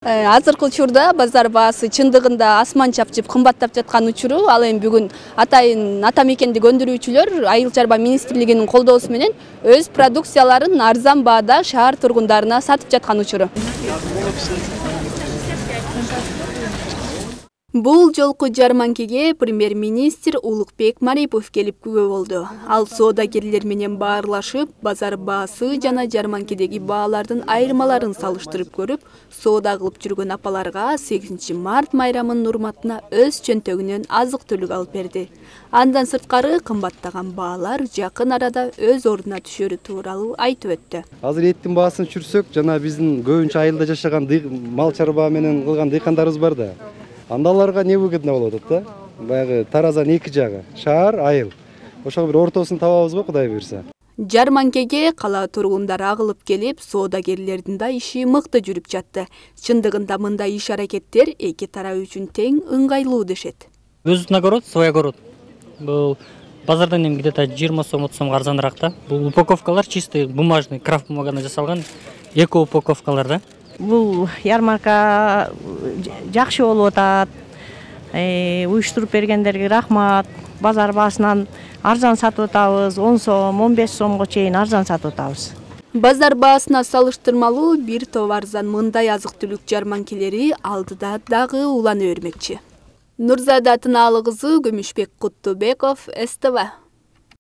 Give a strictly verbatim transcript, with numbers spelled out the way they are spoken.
Азыркы учурда базар баасы чындыгында асман чапчып кымбаттап жаткан учуру. Ал эми бүгүн атайын ата мекендик өндүрүүчүлөр Айыл чарба министрлигинин колдоосу менен өз продукцияларын арзан баада шаар тургундарына сатып жаткан учуру. Бул жолку жарманкеге премьер-министр Улукбек Марипов келип күбө болду. Ал соодагерлер менен баарлашып, базар баасы жана жарманкедеги баалардын айырмаларын салыштырып көрүп, соода кылып жүргөн апаларга сегизинчи март майрамынын урматына өз чөнтөгүнөн азык-түлүк алып берди. Андан сырткары кымбаттаган баалар жакын арада өз ордуна түшөрү тууралуу айтып өттү. Азыр эттин баасын түшүрсөк, жана биздин көбүнчө айылда жашаган мал чарба менен кылган дыйкандарыбыз бар да. Анда аларга не выгодно болуп атат да? Баягы таразанын эки жагы, шаар, айыл. Ошого бир ортосун табабыз го, Кудай буйрса. Жарманкеге кала тургундары агылып келип, соодагерлердин да иши мыкты жүрүп жатты. Чындыгында мындай иш-аракеттер эки тарап үчүн тең ыңгайлуу дешет. Өзүнүн огород, свой огород. Бул базардан эми где-то жыйырма сом, отуз сомго арзаныраак да. Бул упаковкалар чистый бумажный, крафт бумагадан жасалган эко упаковкалар да. Бул ярмарка жакшы болуп атат. Уюштуруп бергендерге рахмат. Базар баасынан арзан сатып атабыз. он сом, он беш сомго чейин арзан сатып атабыз. Базар баасына салыштырмалуу бир топ арзан мындай азык-түлүк жарманкелери алдыда дагы улана бермекчи. Нурзада Тынаалы кызы, Күмүшбек Куттубеков, эс тэ вэ.